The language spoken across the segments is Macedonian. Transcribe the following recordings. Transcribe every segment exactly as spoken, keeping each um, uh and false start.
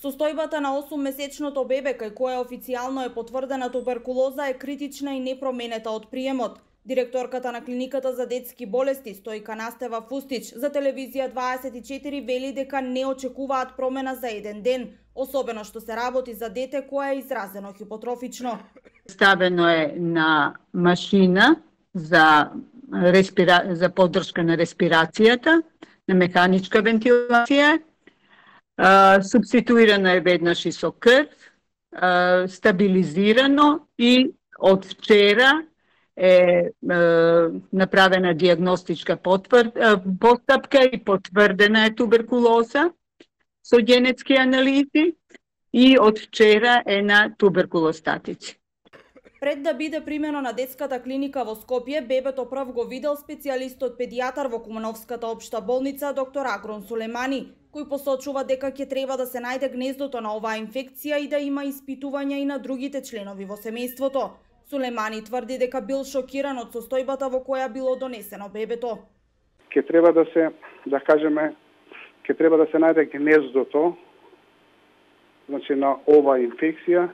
Состојбата на осуммесечното бебе кај кое официјално е потврдена туберкулоза е критична и непроменета од приемот. Директорката на клиниката за детски болести Стојка Настева Фустич за телевизија дваесет и четири вели дека не очекуваат промена за еден ден, особено што се работи за дете кое е изразено хипотрофично. Ставено е на машина за респира... за поддршка на респирацијата, на механичка вентилација. Uh, субституирано е веднаш и со крв, uh, стабилизирано и од вчера е uh, направена диагностичка потвр... uh, постапка и потврдена е туберкулоза со генетски анализи и од вчера е на туберкулостатици. Пред да биде примено на детската клиника во Скопје, бебето прв го видел специјалистот педијатар во Кумановската општа болница доктор Агрон Сулемани, кој посочува дека ќе треба да се најде гнездото на оваа инфекција и да има испитувања и на другите членови во семејството. Сулемани тврди дека бил шокиран од состојбата во која било донесено бебето. Ќе треба да се, да кажеме, ќе треба да се најде гнездото, значи на оваа инфекција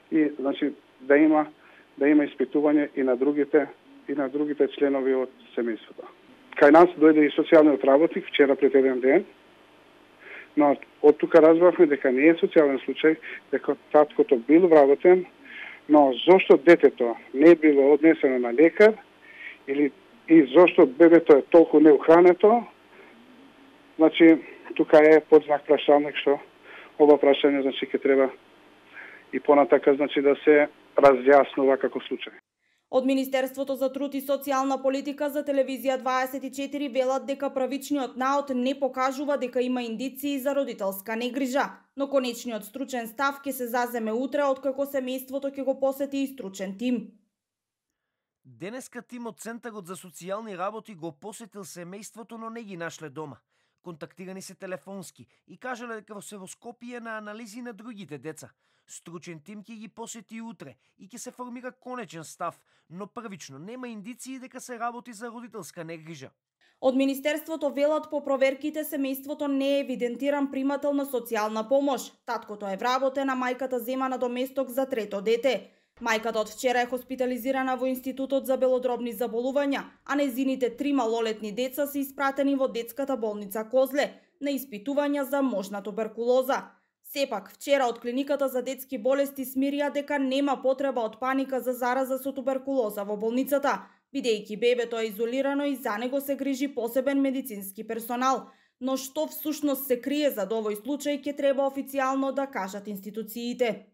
и значи да има да има испитување и на другите и на другите членови од семејството. Кај нас дојде и социјалниот работник вчера пред еден ден. Но од тука разбравме дека не е социјален случај, дека таткото бил вработен, но зошто детето не било однесено на лекар или и зошто бебето е толку неухрането, значи тука е под знак прашалник што ова прашање значи ќе треба и понатака значи да се разјаснува како случај. Од Министерството за труд и социјална политика за телевизија дваесет и четири велат дека правичниот наод не покажува дека има индиции за родителска негрижа, но конечниот стручен став ќе се заземе утре откако семејството ќе го посети и стручен тим. Денеска тим од Центарот за социјални работи го посетил семејството, но не ги нашле дома. Контактирани се телефонски и кажале дека се во Скопје на анализи на другите деца. Стручен тим ќе ги посети утре и ќе се формира конечен став, но првично нема индиции дека се работи за родителска негрижа. Од Министерството велат по проверките семејството не е евидентиран примател на социјална помош. Таткото е вработен, а мајката зема надоместок за трето дете. Мајката од вчера е хоспитализирана во Институтот за белодробни заболувања, а незините три малолетни деца се испратени во детската болница Козле на испитувања за можна туберкулоза. Сепак, вчера од клиниката за детски болести смирија дека нема потреба од паника за зараза со туберкулоза во болницата, бидејќи бебето е изолирано и за него се грижи посебен медицински персонал. Но што всушност се крие зад овој случај ќе треба официјално да кажат институциите.